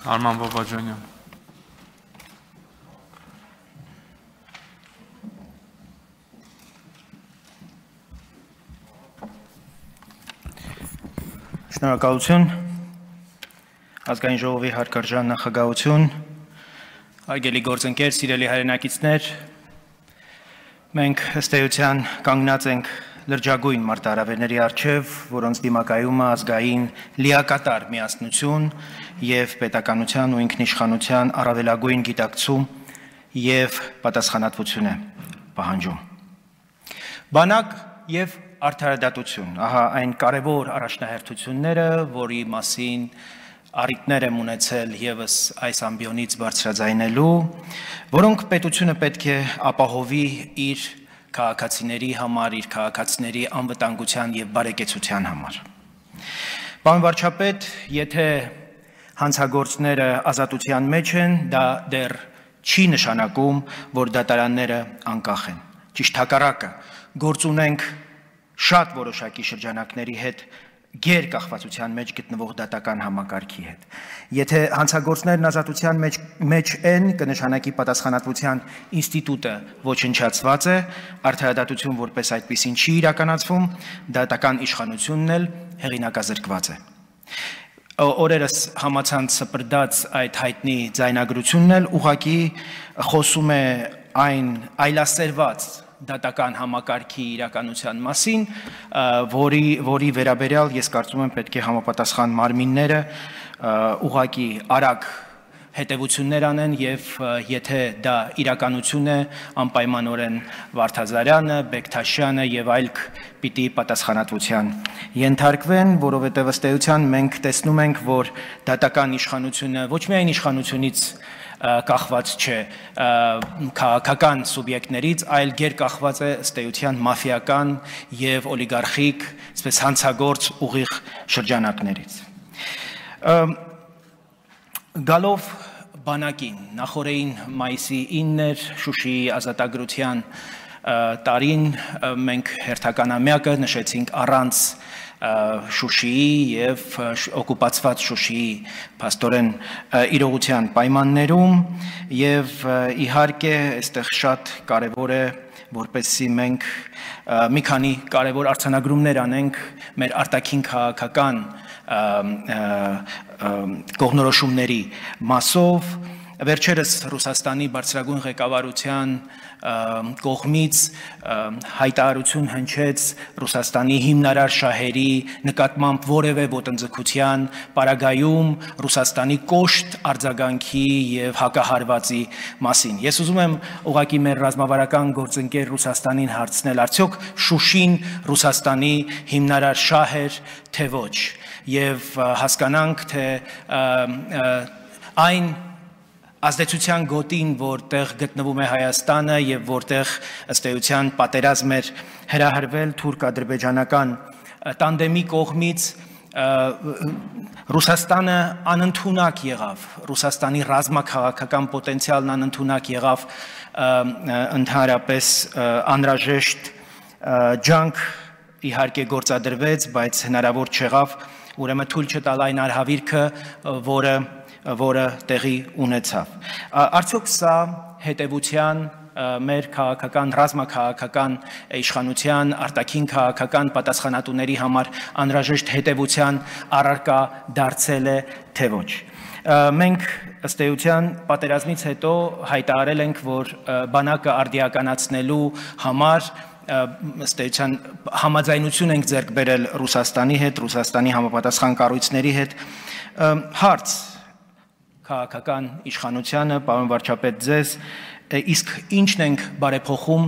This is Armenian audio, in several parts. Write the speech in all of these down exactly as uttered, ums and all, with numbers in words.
Arman Babacanyan. Շնորհակալություն, ազգային ժողովի հարգարժան նախագահություն, հարգելի գործընկեր, սիրելի հայրենակիցներ, մենք ըստ էության կանգնած ենք լրջագույն մարտահրավերների առջև, որոնց դիմակայումը ազգային լիակատար միասնություն եւ պետականության ու ինքնիշխանության առավելագույն գիտակցում եւ պատասխանատվություն է պահանջում։ Բանակ եւ արդարադատություն, ահա այն կարևոր առաջնահերթությունները, որի մասին առիթներ եմ ունեցել եւս այս ամբիոնից բարձրաձայնելու, որոնք պետությունը պետք է ապահովի իր քաղաքացիների համար, իր քաղաքացիների անվտանգության եւ բարեկեցության համար։ Պարոն վարչապետ, եթե հանցագործները ազատության մեջ են, դա դեռ չի նշանակում, որ դատարանները անկախ են։ Ճիշտ հակառակը, գործ ունենք շատ որոշակի շրջանակների հետ գերկախվածության մեջ գտնվող դատական համակարգի հետ։ Եթե հանցագործներն ազատության մեջ, մեջ են, կնշանակի պատասխանատվության ինստիտուտը ոչնչացված է, արդարադատություն որպես այդպիսին չի իրականացվում, դատական իշխանությունն էլ հեղինակազրկված է։ Օրերս համացանց սպրդած այդ հայտնի ձայնագրությունն էլ ուղղակի խոսում է այն այլասերված դատական համակարգի իրականության մասին, որի, որի վերաբերյալ ես կարծում եմ պետք է համապատասխան մարմինները ուղղակի արագ հետևություններ անեն եւ եթե դա իրականություն է, անպայմանորեն Վարդազարյանը, Բեկթաշյանը եւ այլք պիտի պատասխանատվության ենթարկվեն, որովհետեւ ըստ էության մենք տեսնում ենք, որ դատական իշխանությունը ոչ միայն իշխանությունից կախված չէ քաղաքական սուբյեկտներից, այլ գերկախված է ըստ էության մաֆիական եւ օլիգարխիկ, այսպես հանցագործ ուղիղ շրջանակներից։ Գալով բանակին, նախորդին մայիսի ինը Շուշիի ազատագրության տարին մենք հերթականամյակը նշեցինք առանց Շուշիի եւ օկուպացված Շուշիի փաստորեն իրողության պայմաններում եւ իհարկե այստեղ շատ կարեւոր է որպեսզի մենք մի քանի կարևոր արձանագրումներ անենք մեր արտաքին քաղաքական կողմնորոշումների մասով վերջերս Ռուսաստանի բարձրագույն ղեկավարության կողմից հայտարարություն հնչեց Ռուսաստանի հիմնարար շահերի նկատմամբ որևէ ոտնձգության պարագայում Ռուսաստանի կոշտ արձագանքի եւ հակահարվածի մասին։ Ես ուզում եմ ուղղակի մեր ռազմավարական գործընկեր Ռուսաստանին հարցնել, արդյոք Շուշին Ռուսաստանի հիմնարար շահ էր, թե ոչ, եւ հասկանանք, թե այն ազդեցության գոտին, որտեղ գտնվում է Հայաստանը եւ որտեղ ըստ էության պատերազմ էր հրահրվել թուրք-ադրբեջանական տանդեմի կողմից, Ռուսաստանը անընդունակ եղավ, Ռուսաստանի ռազմաքաղաքական պոտենցիալն անընդունակ եղավ ընդհանրապես անհրաժեշտ ջանք իհարկե գործադրվեց, բայց հնարավոր չեղավ ուրեմն թույլ չտալ այն արհավիրքը, որը որը տեղի ունեցավ։ Արդյոք սա հետևության մեր քաղաքական, ռազմաքաղաքական իշխանության, արտաքին քաղաքական պատասխանատուների համար անհրաժեշտ հետևության առարկա դարձել է, թե ոչ։ Մենք ըստ էության պատերազմից հետո հայտարարել ենք, որ բանակը արդիականացնելու համար ըստ էության համաձայնություն ենք ձեռք բերել Ռուսաստանի հետ, Ռուսաստանի համապատասխան կառույցների հետ։ Հարց քաղաքական իշխանությանը, պարոն վարչապետ ձեզ, իսկ ինչն ենք բարեփոխում,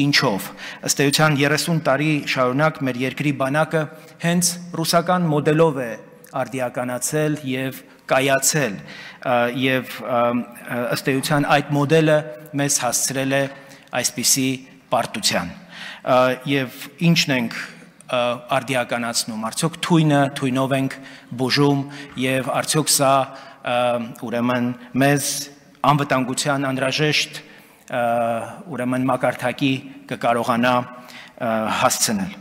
ինչով։ Ըստ էության երեսուն տարի շարունակ մեր երկրի բանակը հենց ռուսական մոդելով է արդիականացել եւ կայացել եւ ըստ էության այդ մոդելը մեզ հասցրել է այսպիսի պարտության։ Եվ ինչն ենք արդիականացնում, արդյոք թույնը, թույնով ենք բուժում եւ արդյոք սա ուրեմն մեզ անվտանգության անհրաժեշտ ուրեմն մակարդակի կկարողանա հասցնել։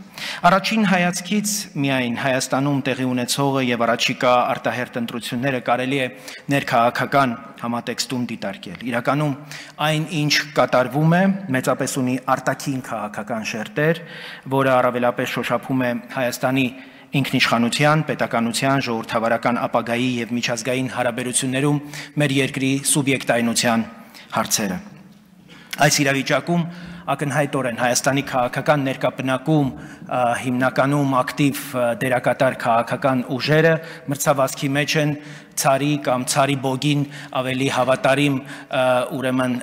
Առաջին հայացքից միայն Հայաստանում տեղի ունեցողը եւ առաջիկա արտահերթ ընտրությունները կարելի է ներքաղաքական համատեքստում դիտարկել։ Իրականում այն, ինչ կատարվում է, մեծապես ունի արտաքին քաղաքական շերտեր, որը առավելապես շոշափում է Հայաստանի ինքնիշխանության, պետականության, ժողովրդավարական ապագայի եւ միջազգային հարաբերություններում մեր երկրի սուբյեկտայնության հարցերը։ Այս իրավիճակում ակնհայտորեն Հայաստանի քաղաքական ներկայապնակում հիմնականում ակտիվ դերակատար քաղաքական ուժերը մրցավազքի մեջ են ցարի կամ ցարի բոգին ավելի հավատարիմ ուրեմն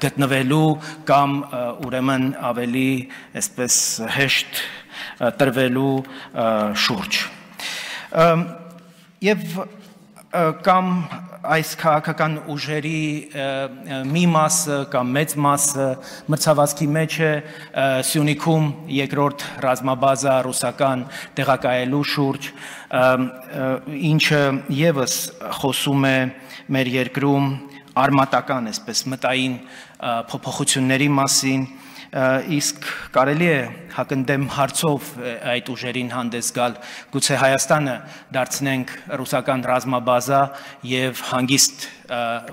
գտնվելու կամ ուրեմն ավելի այսպես հեշտ տրվելու շուրջ։ Եվ կամ այս քաղաքական ուժերի մի մասը կամ մեծ մասը մրցավազքի մեջ է Սյունիքում երկրորդ ռազմաբազա ռուսական տեղակայելու շուրջ, ինչը եւս խոսում է մեր երկրում արմատական, այսպես մտային փոփոխությունների մասին, իսկ կարելի է հակընդդեմ հարցով այդ ուժերին հանդես գալ, գուցե Հայաստանը դարձնենք ռուսական ռազմաբազա եւ հանգիստ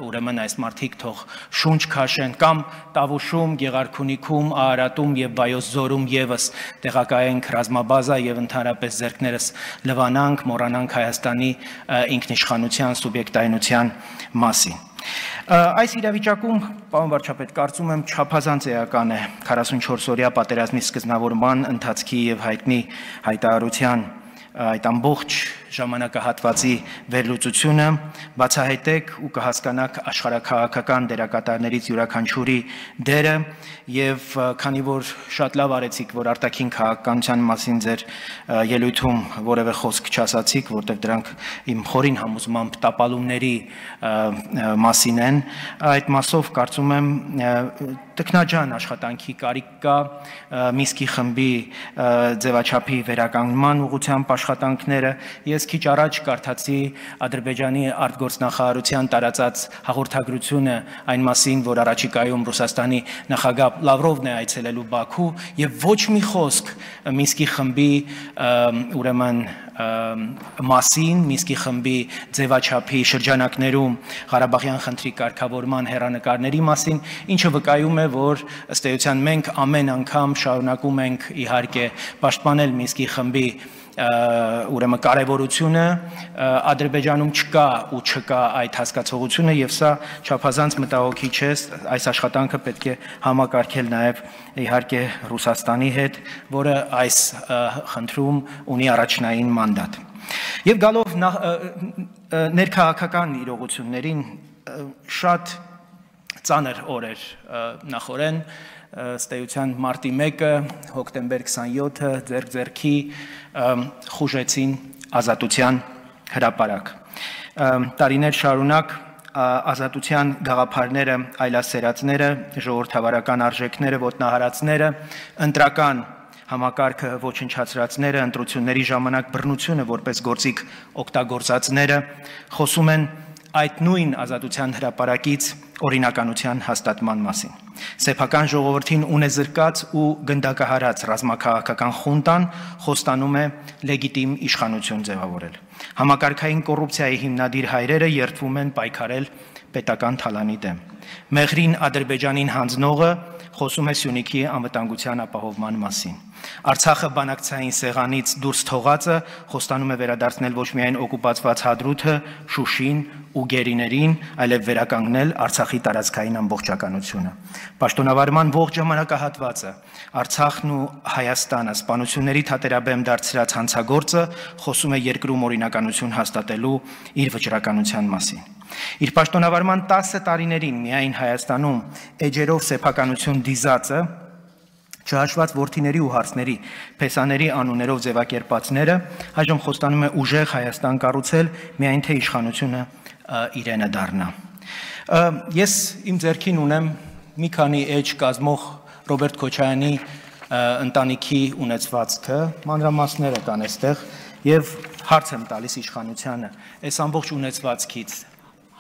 ուրեմն այս մարդիկ թող շունչ քաշեն կամ Տավուշում, Գեղարքունիքում, Արարատում եւ Վայոց ձորում եւս տեղակայենք ռազմաբազա եւ ընդհանրապես ձեռքներս լվանանք, մոռանանք Հայաստանի ինքնիշխանության, սուբյեկտայնության մասին։ Այս իրավիճակում, պարոն վարչապետ, կարծում եմ չափազանց էական է քառասունչորս-օրյա պատերազմի սկզբնավորման ընթացքի եւ հայտնի հայտարարության այդ ամբողջ ժամանակահատվածի վերլուծությունը, բացահայտեք ու կհասկանաք աշխարհաքաղաքական դերակատարներից յուրաքանչյուրի դերը եւ քանի որ շատ լավ արեցիք, որ արտաքին քաղաքականության մասին ձեր ելույթում որևէ խոսք չասացիք, որտեղ դրանք իմ խորին համոզմամբ տապալումների մասին են, այդ մասով կարծում եմ տքնաջան աշխատանքի կարիք կա Մինսկի խմբի ձևաչափի վերականգնման ուղղությամբ աշխատանքները։ Ես քիչ առաջ կարդացի Ադրբեջանի արտգործնախարարության տարածած հաղորդագրությունը այն մասին, որ առաջիկայում Ռուսաստանի նախագահ Լավրովն է այցելելու Բաքու եւ ոչ մի խոսք Մինսկի խմբի ուրեմն մասին, Մինսկի խմբի ձևաչափի շրջանակներում Ղարաբաղյան խնդրի կարգավորման հեռանկարների մասին, ինչը վկայում է, որ ըստ էության մենք ամեն անգամ շարունակում ենք իհարկե պաշտպանել Մինսկի խմբի ուրեմն կարևորությունը, Ադրբեջանում չկա ու չկա այդ հասկացողությունը եւ սա չափազանց մտահոգի չէ, այս աշխատանքը պետք է համակարգել նաեւ իհարկե Ռուսաստանի հետ, որը այս խնդրում ունի առաջնային մանդատ։ Եվ գալով ներքաղաքական իրողություններին, շատ ծանր օրեր նախորեն, ըստ էության մարտի մեկը, հոկտեմբեր քսանյոթը ձեռք-ձեռքի խուժեցին ազատության հրապարակ։ Տարիներ շարունակ ազատության գաղափարները, այլասերածները, ժողովրդավարական արժեքները, ոտնահարածները, ընտրական համակարգը ոչնչացրածները, ընտրությունների ժամանակ բռնությունը որպես գործիք օգտագործածները խոսում են այդ նույն ազատության հրապարակից օրինականության հաստատման մասին։ Սեփական ժողովրդին ունեզրկած ու գնդակահարած ռազմաքաղաքական խունտան խոստանում է լեգիտիմ իշխանություն ձևավորել։ Համակարգային կոռուպցիայի հիմնադիր հայրերը երդվում են պայքարել պետական թալանի դեմ։ Մեղրին Ադրբեջանին հանձնողը խոսում է Սյունիքի անվտանգության ապահովման մասին։ Արցախը բանակցային սեղանից դուրս թողածը խոստանում է վերադարձնել ոչ միայն օկուպացված Հադրութը, Շուշին ու Գերիներին, այլև վերականգնել Արցախի տարածքային ամբողջականությունը։ Պաշտոնավարման ողջ ժամանակահատվածը Արցախն ու Հայաստանը սպանությունների թատերաբեմ դարձրած հանցագործը խոսում է երկրում օրինականություն հաստատելու իր վճռականության մասին։ Իր պաշտոնավարման տասը տարիներին միայն Հայաստանում էջերով սեփականություն դիզածը, չհաշված որդիների ու հարցների, փեսաների անուններով ձևակերպածները, այժմ խոստանում է ուժեղ Հայաստան կառուցել, միայն թե իշխանությունը իրենը դառնա։ Ես իմ ձեռքին ունեմ մի քանի էջ կազմող Ռոբերտ Քոչարյանի ընտանիքի ունեցվածքը, մանրամասները կան այստեղ, եւ հարց եմ տալիս իշխանությանը, այս ամբողջ ունեցվածքից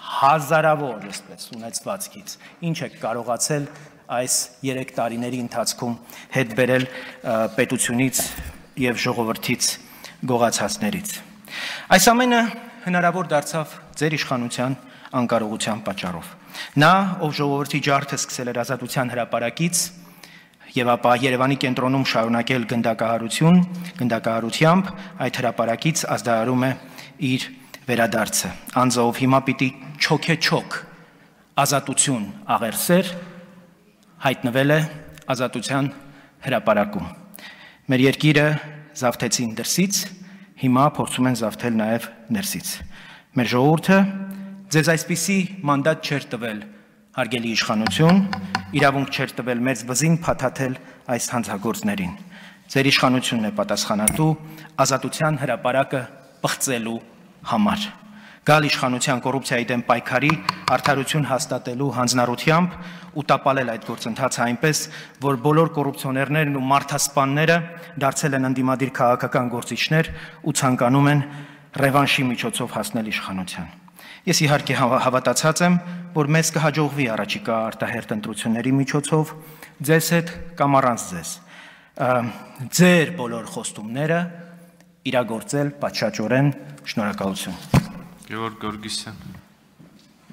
հազարավոր այսպես ունեցվածքից, ինչ եք կարողացել այս երեք տարիների ընթացքում հետ բերել պետությունից եւ ժողովրդից գողացածներից։ Այս ամենը հնարավոր դարձավ ձեր իշխանության անկարողության պատճառով։ Նա, ով ժողովրդի ջարդը սկսել էր ազատության հրապարակից եւ ապա Երևանի կենտրոնում շարունակել գնդակահարություն, գնդակահարությամբ այդ հրապարակից ազդարարում է իր վերադարձը։ Անձը, ով հիմա պիտի չոքեչոք ազատություն աղերսեր, հայտնվել է ազատության հրապարակում։ Մեր երկիրը զավթեցին դրսից, հիմա փորձում են զավթել նաև ներսից։ Մեր ժողովուրդը ձեզ այսպիսի մանդատ չէր տվել, հարգելի իշխանություն, իրավունք չէր տվել մեծ բզին փաթաթել այս հանցագործներին։ Ձեր իշխանությունն է պատասխանատու ազատության հրապարակը պղծելու համար։ Գալ իշխանության կոռուպցիայի դեմ պայքարի արդարություն հաստատելու հանձնառությամբ ու տապալել այդ գործընթացը այնպես, որ բոլոր կոռուպցիոներներն ու մարդասպանները դարձել են ընդդիմադիր քաղաքական գործիչներ ու ցանկանում են ռևանշի միջոցով հասնել իշխանության։ Ես իհարկե հավատացած եմ, որ մեզ կհաջողվի առաջիկա արտահերթ ընտրությունների միջոցով ձեզ հետ կամ առանց ձեզ ձեր բոլոր խոստումները իրագործել պատշաճորեն։ Շնորհակալություն։ Գևորգ Գորգիսյան